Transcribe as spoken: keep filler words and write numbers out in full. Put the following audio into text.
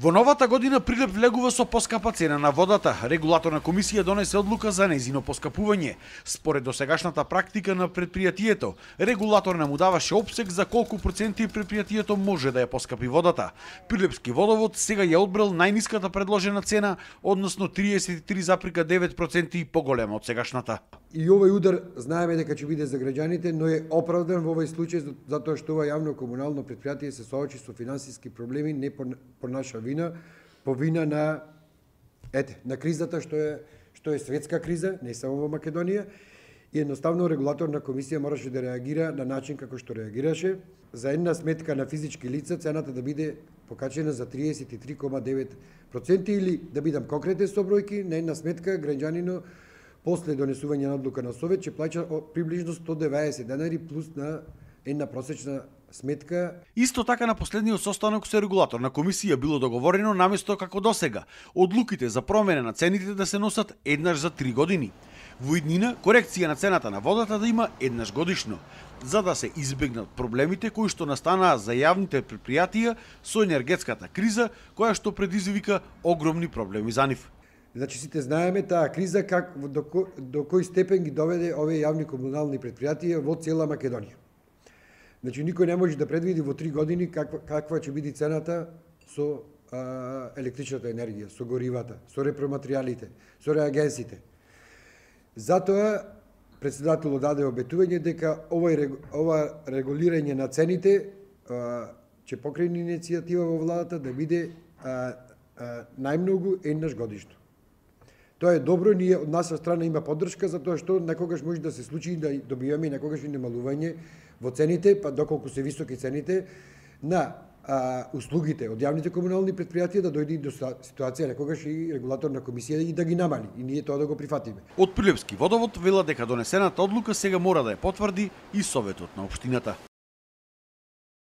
Во новата година Прилеп влегува со поскапа цена на водата. Регулаторна комисија донесе одлука за нејзино поскапување. Според досегашната практика на предпријатието, регулаторна му даваше опсег за колку проценти предпријатието може да ја поскапи водата. Прилепски водовод сега ја одбрал најниската предложена цена, односно триесет и три запирка девет проценти поголема од сегашната. И овој удар знаеме дека ќе биде за граѓаните, но е оправдан во овој случај затоа што ова јавно комунално предпријатие се соочи со финансиски проблеми не по, по наша вина, по вина на ете, на кризата што е што е светска криза, не само во Македонија, и едноставно регулаторна комисија мораше да реагира на начин како што реагираше. За една сметка на физички лица цената да биде покачена за триесет и три зарез девет проценти или да бидам конкретен со бројки, на една сметка граѓанино после донесување на одлука на Совет ќе плаќа приближно сто деветдесет денари плюс на една просечна сметка. Исто така на последниот состанок со регулаторна комисија било договорено наместо како досега одлуките за промена на цените да се носат еднаш за три години. Во иднина корекција на цената на водата да има еднаш годишно, за да се избегнат проблемите кои што настанаа за јавните предпријатија со енергетската криза која што предизвика огромни проблеми за нив. Значи сите знаеме таа криза как до, ко, до кој степен ги доведе овие јавни комунални предпријатија во цела Македонија. Значи никој не може да предвиди во три години каква каква ќе биде цената со а, електричната енергија, со горивата, со репроматеријалите, со реагенсите. Затоа претседателот даде обетување дека овој ова регулирање на цените а, ќе покрени иницијатива во владата да биде а, а, најмногу еднаш годишно. Тоа е добро, ние од наша страна има поддршка затоа што некогаш може да се случи да добиваме некогаш и намалување во цените, па доколку се високи цените на а, услугите од јавните комунални предпријатија да дојде до ситуација некогаш и регулаторна комисија и да ги намали и ние тоа да го прифатиме. Од Прилепски водовод велат дека донесената одлука сега мора да ја потврди и Советот на општината.